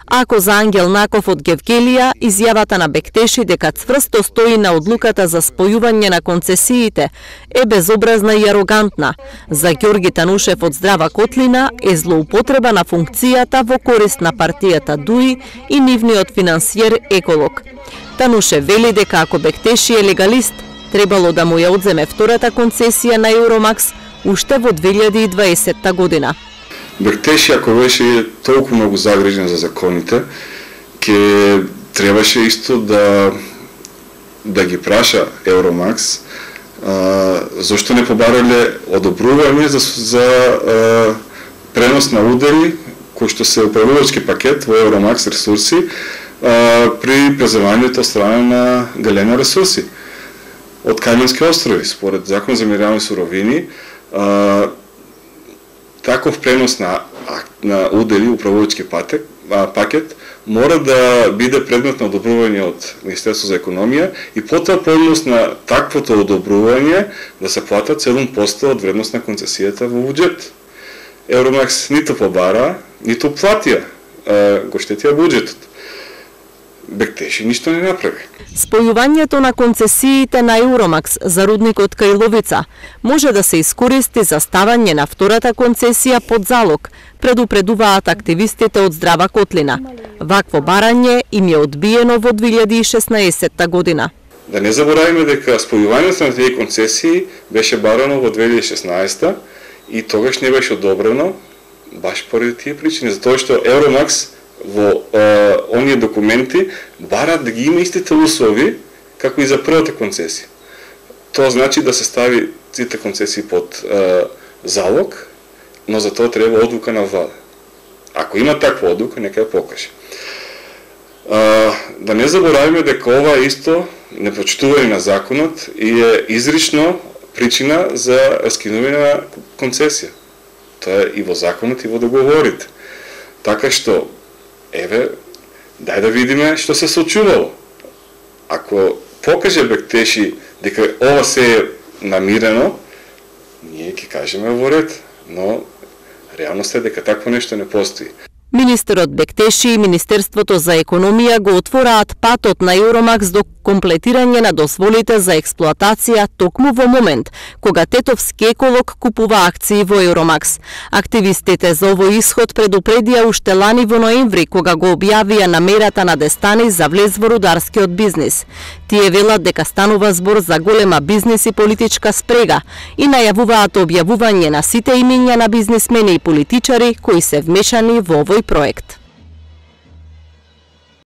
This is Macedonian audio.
Ако за Ангел Наков од Гевгелија, изјавата на Бектеши дека цврсто стои на одлуката за спојување на концесиите е безобразна и арогантна. За Ѓорги Танушев од Здрава Котлина е злоупотреба на функцијата во корист на партијата ДУИ и нивниот финансиер Еколог. Танушев вели дека ако Бектеши е легалист, требало да му ја одземе втората концесија на Евромакс уште во 2020 година. Бектеши, ако беше толку многу загрижен за законите, ќе требаше исто да ги праша Евромакс зошто не побарале одобрување за пренос на удели кои што се управувачки пакет во Евромакс ресурси при преземањето од страна на Галена ресурси од Кајмански острови. Според Закон за минерални суровини, таков пренос на удели управувачки пакет мора да биде предмет на одобрување од Министерството за економија и потоа по однос на таквото одобрување да се платат 7% од вредност на концесијата во буџет. Евромакс ниту побара, ниту платија, го штетија буџетот. Бектеши ништо не направи. Спојувањето на концесиите на Евромакс за рудникот Кајловица може да се искористи за ставање на втората концесија под залог, предупредуваат активистите од Здрава Котлина. Вакво барање им е одбиено во 2016 година. Да не забораваме дека спојувањето на тие концесии беше барано во 2016 и тогаш не беше одобрено баш поради тие причини, затоа што Евромакс во оние документи барат да ги има истите услови како и за првата концесија. Тоа значи да се стави сите концесии под залог, но за тоа треба одлука на влада. Ако има таква одлука, нека ја покаже. Да не забораваме дека ова исто непочитување на законот и е изрично причина за раскинување на концесија. Тоа е и во законот и во договорите. Така што еве, дај да видиме што се случувало. Ако покаже Бектеши дека ова се е намирено, ние ќе кажеме во ред, но реалноста е дека такво нешто не постои. Министерот Бектеши и Министерството за економија го отвораат патот на Евромакс до комплетирање на дозволите за експлоатација токму во момент кога тетовски Еколог купува акции во Евромакс. Активистите за овој исход предупредија уште лани во ноември кога го објавија намерата на Дестани за влез во рударскиот бизнис. Тие велат дека станува збор за голема бизнис и политичка спрега и најавуваат објавување на сите имиња на бизнисмени и политичари кои се вмешани во овој проект.